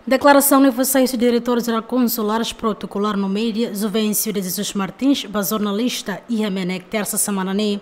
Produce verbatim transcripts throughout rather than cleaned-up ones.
Deklarasaun ne'e fó sai husi Diretór Jerál Konsulares Protokolár no Média, Juvencio de Jesus Martins, ba jornalista iha MNEK, tersa semana ne'e.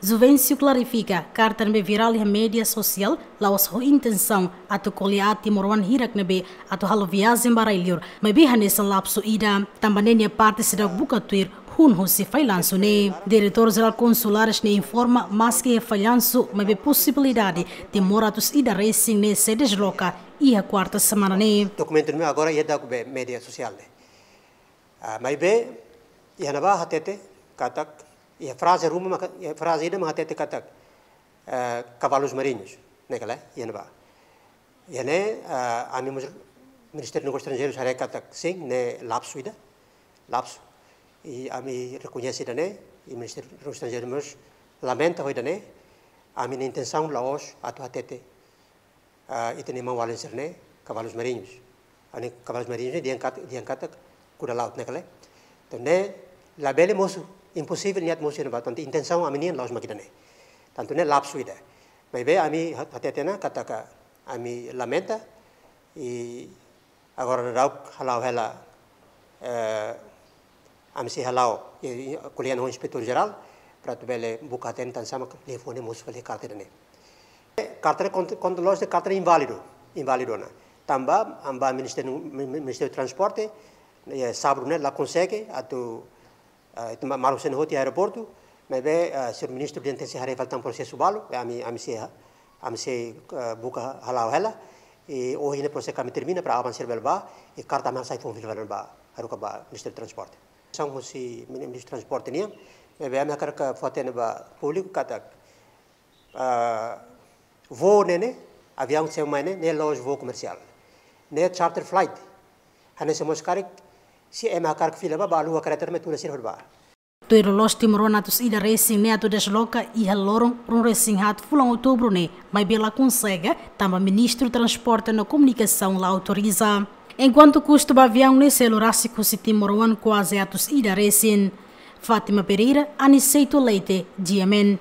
Juvencio klarifika, karta ne'ebé virál iha média sosiál la'ós ho intensaun atu ko'alia aat timoroan hirak ne'ebé atu halo viajen ba rai-liur, maibé hanesan lapsu ida, tanba ne'e nia parte seidauk buka tuir hun husi fallansu ne'e. Diretór Jerál Konsulares ne'e informa, maski iha fallansu, maibé posibilidade Timor atus ida resin ne'e sei desloka iha kuarta semana ne'e. Dokumentu ne'e agora iha daudaun ba média sosiál ne'e. Ah, maibé iha ne'ebá hatete katak, iha fraze ruma maka, iha fraze ida mak hatete katak, eh, kavalus mariñus, ne'e ka lae, iha ne'ebá. Iha ne'e, ah, ami mós Ministériu Negósius Estranjeirus haree katak sin, ne'e lapsu ida, lapsu. I ami rekoñese ida-ne'e, i Ministériu Negósius Estranjeirus mós lamenta ho ida-ne'e, ami-nia intensaun la'ós atu hatete, ah, ita-nia maun-alin sira-ne'e kavalus mariñus. Ami-nia kavalus mariñus ne'e dehan kat-, dehan katak kuda laut, ne'e ka lae. Entaun ne'e labele mosu, imposivel nia atu mosu iha ne'ebá, tantu intensaun ami-nian la'ós mak ida-ne'e. Entaun ne'e lapsu ida. Maibé ami hat-, hatete ona katak ami lamenta, i agora daudaun hala'o hela, eh, ami sei hala'o, i, i, ko'alia ho Inspetór Jerál, para atu bele buka hatene tansá mak liafuan ne'e mosu fali karta ida-ne'e. Karta ne'e kont-, konta loos dehan karta ne'e inválidu, inválidu ona. Tanba, tanba Ministériu, Mi-, Mi-, Ministériu Transporte, eh, sábadu ne'e la konsege atu, eh, ita ma-, maluk sira-ne'e hotu iha aeroportu, maibé, eh, señór ministru dehan tenke sei haree fali tan prosesu balu, eh, ami, ami sei, ami sei, eh, buka hala'o hela, i ohin ne'e prosesu ami termina para aban sira bele bá, i karta ami hasai foun fila fali ba, haruka ba Ministériu Transporte. São husi Ministériu Transporte nian, maibé ami hakarak fó hatene ba públiku katak, ah, voo ne'e ne'e, aviaun sei mai ne'e, ne'e la'ós voo komersiál. Ne'e charter flight. Hanesan mós karik, se ema hakarak fila bá, bá alua kareta ne'e tula sira hodi bá. Tuir loloos timoroan atus ida resin ne'e atu desloka iha loron ruanulu resin haat fulan Outubru ne'e, maibé la konsege, tanba Ministériu Transporte no Komunikasaun la autoriza. Enkuantu kustu ba aviaun ne'e sei lori rasik husi timoroan kuaze atus ida resin. Fátima Pereira, Aniceto Leite, G M N.